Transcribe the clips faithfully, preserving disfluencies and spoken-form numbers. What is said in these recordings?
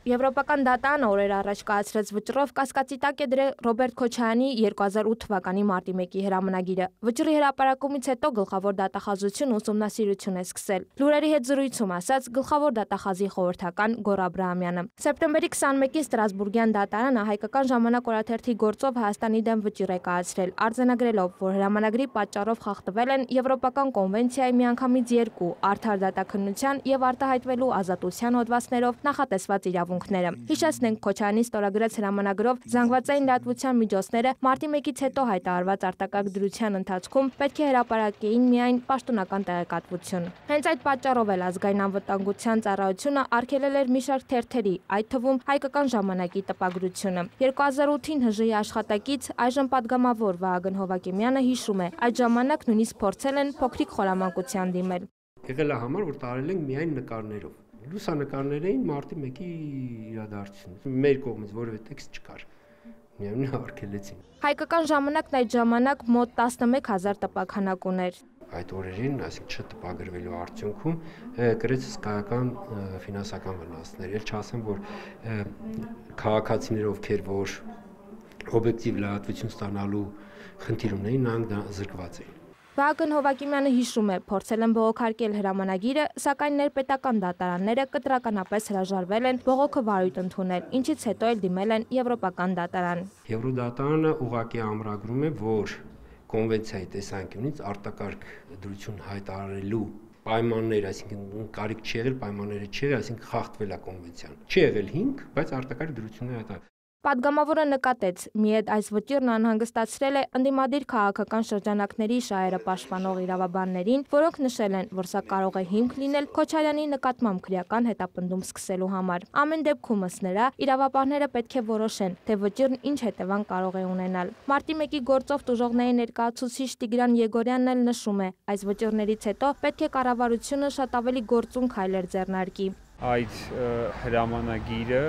Եվրոպական դատարանը օրեր առաջ կայացրած վճռով կասկածի տակ է դրել Ռոբերտ Քոչարյանի երկու հազար ութ թվականի մարտի մեկի հրամանագիրը։ Վճռի հրապարակումից հետո գլխավոր դատախազությունը ուսումնասիրություն է սկսել։ Լուրերի հետ զրույցում ասաց գլխավոր դատախազի խորհրդական Գոռ Աբրահամյանը։ Սեպտեմբերի քսանմեկին Ստրասբուրգյան դատարանը Հայկական ժամանակ օրաթերթի գործով Հայաստանի դեմ վճիռ է կայացրել, արձանագրելով, որ հրամանագրի պատճառով խախտվել են Եվրոպական կոնվենցիայի միանգամից երկու արդար դատաքննության եւ արտահայտվելու ազատության հոդվածներով նախատեսված իրավունքները։ Հիշեցնենք, Քոչարյանի ստորագրած հրամանագրով զանգվածային լրատվության միջոցները մարտի մեկից հետո հայտարարված արտակարգ դրության ընթացքում պետք է հրապարակեին միայն պաշտոնական տեղեկատվություն։ Հենց այդ պատճառով էլ ազգային անվտանգության ծառայությունը արգելել էր մի շարք թերթերի, այդ թվում Հայկական ժամանակի տպագրությունը։ երկու հազար ութին ՀԺ-ի աշխատակից այժմ պատգամավոր Վահագն Հովակիմյանը հիշում է, այդ ժամանակ նույնիսկ փորձել են փոքրիկ խորամանկության դիմել։ Եղել է համար, որ տարել ենք միայն նկարներով։ Լուսանկարներ էին մարտի մեկի իրադարձությունից։ Մեր կողմից որևէ տեքստ չկար։ Միայն արգելեցին։ Հայկական ժամանակն այդ ժամանակ մոտ տասնմեկ հազար տպաքանակ ուներ։ Այդ օրերին, այսինքն չտպագրվելու արդյունքում կրեց հսկայական ֆինանսական վնասներ։ Էլ չասեմ, որ քաղաքացիներ, ովքեր որ օբյեկտիվ լրատվություն ստանալու խնդիր ունեին, նրանք զրկված էին։ Վահագն Հովակիմյանը հիշում է, փորձել են բողոքարկել հրամանագիրը, սակայն ներպետական դատարանները կտրականապես հրաժարվել են բողոքը վարույթ ընդունել, ինչից հետո էլ դիմել են Եվրոպական դատարան։ Եվրոդատարանը ուղղակի ամրագրում է, որ կոնվենցիայի տեսանկյունից արտակարգ դրություն հայտարարելու պայմաններ, այսինքն կարիք չի եղել, պայմանները չի եղել, այսինքն խախտվել է կոնվենցիան։ Չի եղել հիմք, բայց արտակարգ դրությունները հայտարարել։ Պատգամավորը նկատեց, միեդ այս վճիռն անհանգստացրել է ընդդիմադիր քաղաքական շրջանակների շահերը պաշտպանող իրավաբաններին, որոնք նշել են, որ սա կարող է հիմք լինել Քոչարյանի նկատմամբ քրեական հետապնդում սկսելու համար։ Ամեն դեպքում ըստ նրա, իրավաբանները պետք է որոշեն, թե վճիռն ինչ հետևանք կարող է ունենալ։ Մարտի մեկի գործով տուժողների ներկայացուցիչ Տիգրան Եգորյանն էլ նշում է, այս վճիռներից հետո պետք է կառավարությունը շատ ավելի գործուն քայլեր ձեռնարկի։ Այդ հրամանագիրը,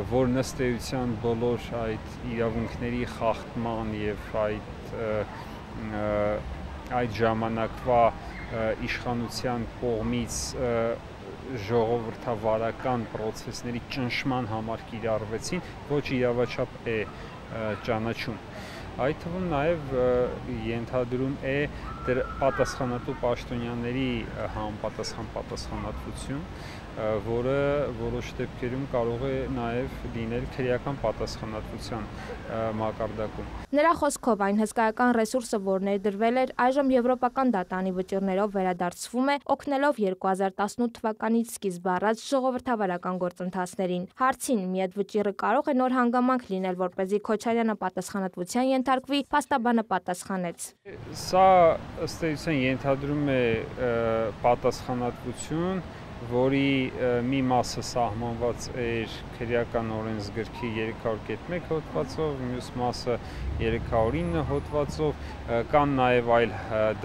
որ ըստ էության բոլոր այդ իրավունքների խախտման եւ այդ այդ ժամանակվա իշխանության կողմից ժողովրդավարական process-ների ճնշման համար կիրառվեցին, ոչ իրավաչափ է ճանաչում։ Այդ թվում նաև ենթադրում է դեր պատասխանատու պաշտոնյաների համապատասխան պատասխանատվություն, որը որոշ դեպքերում կարող է նաև լինել քրեական պատասխանատվության մակարդակում։ Նրա խոսքով այն հսկայական ռեսուրսը, որ ներդրվել էր, այժմ Եվրոպական դատարանի վճիռներով վերադարձվում է, օգնելով երկու հազար տասնութ թվականից սկիզբ առած ժողովրդավարական գործընթացներին։ Հարցին՝ միեդ վճիռը կարող է նոր հանգամանք լինել, որպեսզի Քոչարյանը պատասխանատվության ենթարկվի, փաստաբանը պատասխանեց. Սա ըստ էության ենթադրում է պատասխանատվություն, որի մի մասը սահմանված էր քրեական օրենսգրքի երեք հարյուր կետ մեկ հոդվածով, մյուս մասը երեք հարյուր ինը հոդվածով, կան նաև այլ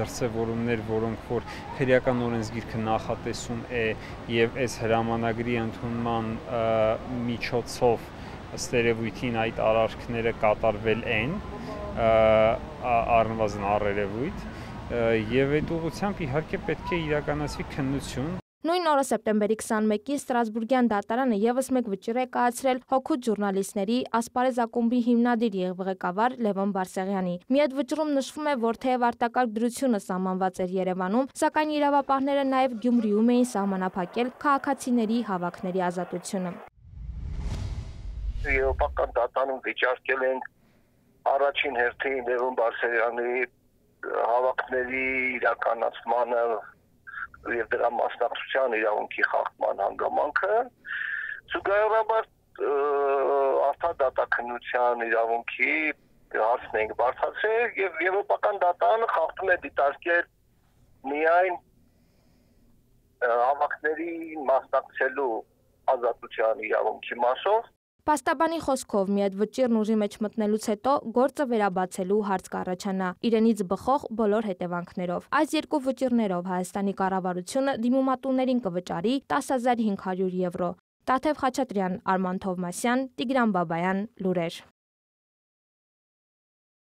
դրսևորումներ, որոնք որ քրեական օրենսգիրքը նախատեսում է եւ այս հրամանագրի ընդունման միջոցով ըստ երևույթին այդ արարքները կատարվել են, առնվազն առերևույթ, եւ այդ ուղղությամբ իհարկե պետք է իրականացվի քննություն։ Նույն օրը սեպտեմբերի քսանմեկին Ստրասբուրգյան դատարանը եւս մեկ վճիռ է կայացրել հօգուտ ժուրնալիստների Ասպարեզ ակումբի հիմնադիր եւ ղեկավար Լևոն Բարսեղյանի։ Միեդ վճռում նշվում է, որ թեև արտակարգ դրությունը սահմանված էր Երևանում, սակայն իրավապահները նաեւ Գյումրիում էին սահմանափակել քաղաքացիների հավաքների ազատությունը։ Եվրոպական դատարանում վիճարկել են առաջին հերթին Լևոն Բարսեղյանի հավաքների իրականացմանը եւ դրա մասնակցության իրավունքի խախտման հանգամանքը, զուգահեռաբար արդար դատաքննության իրավունքի հարցն ենք բարձրացրել եւ Եվրոպական դատարանը խախտում է դիտարկել միայն հավաքների մասնակցելու ազատության իրավունքի մասով։ Փաստաբանի խոսքով միեդ վճիռն ուժի մեջ մտնելուց հետո գործը վերաբացելու հարց կառաջանա իրենից բխող բոլոր հետևանքներով։ Այս երկու վճիռներով Հայաստանի կառավարությունը դիմումատուներին կվճարի տասը հազար հինգ հարյուր եվրո։ Տաթև Խաչատրյան, Արման Թովմասյան, Տիգրան Բաբայան, լուրեր։